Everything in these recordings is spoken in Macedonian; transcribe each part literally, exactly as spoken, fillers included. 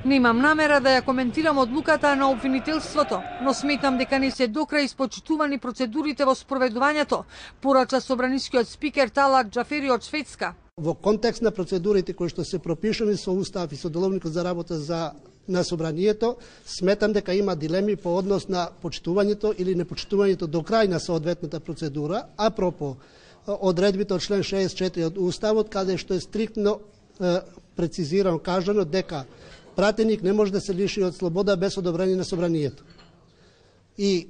Немам намера да ја коментирам одлуката на обвинителството, но сметам дека не се докрај испочитувани процедурите во спроведувањето, порача собранискиот спикер Талат Џафери од Шведска. Во контекст на процедурите кои што се пропишани со Устав и со Деловникот за работа за на собранието, сметам дека има дилеми по однос на почитувањето или непочитувањето до крај на соодветната процедура, апропо одредбите од член шеесет и четири од Уставот, каде што е стриктно е, прецизирано кажано дека пратеник не може да се лиши од слобода без одобрение на собранието. И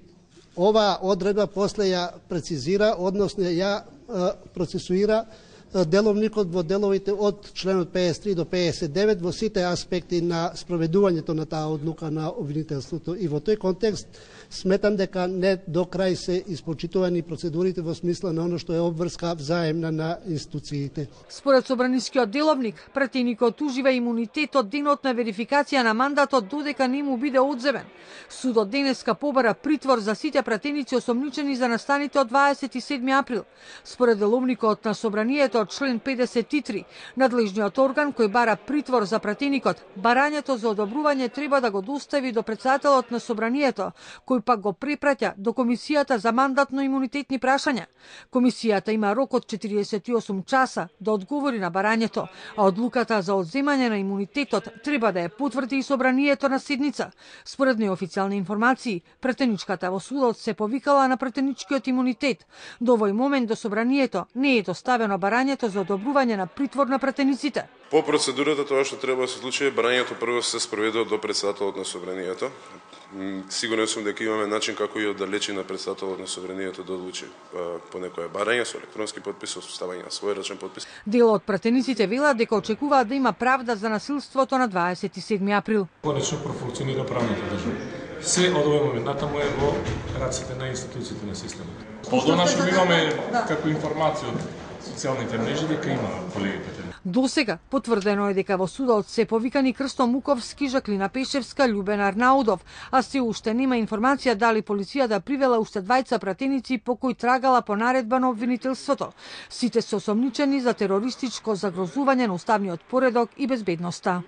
оваа одредба после ја прецизира, односно ја е, процесуира деловникот во деловите од членот пеесет и три до пеесет и девет во сите аспекти на спроведувањето на таа одлука на обвинителството. И во тој контекст сметам дека не до крај се испочитувани процедурите во смисла на оно што е обврска взаемна на институциите. Според собранискиот деловник, пратеникот ужива имунитет од денот на верификација на мандатот додека не му биде одземен. Судот денеска побара притвор за сите пратеници осомничени за настаните од дваесет и седми април. Според деловникот на собранието од член педесет и три, надлежниот орган кој бара притвор за пратеникот, барањето за одобрување треба да го достави до претседателот на собранието, кој пак го препраќа до Комисијата за мандатно-имунитетни прашања. Комисијата има рок од четириесет и осум часа да одговори на барањето, а одлуката за одземање на имунитетот треба да ја потврди и собранието на седница. Според неофицијални информации, пратеничката во судот се повикала на пратеничкиот имунитет. До овој момент до собранието не е доставено барањето за одобрување на притвор на пратениците. По процедурата тоа што треба да се случи, барањето прво се спроведува до претседателот на собранието. Сигурен сум дека имаме начин како и оддалечи на претседателот на собранието да одлучи по некое барање со електронски подпис, со ставање на свој рачен подпис. Дел од пратениците велат дека очекуваат да има правда за насилството на дваесет и седми април. Конечно профункционира правната држава. Се од овој момент натаму е во раците на институциите на системот. Подонашо имаме како информација од социјалните мрежи дека има колегите. Досега потврдено е дека во судот се повикани Крсто Муковски, Жаклина Пешевска, Љубен Арнаудов, а се уште нема информација дали полицијата привела уште двајца пратеници по кои трагала по наредба на обвинителството. Сите се осомничени за терористичко загрозување на уставниот поредок и безбедноста.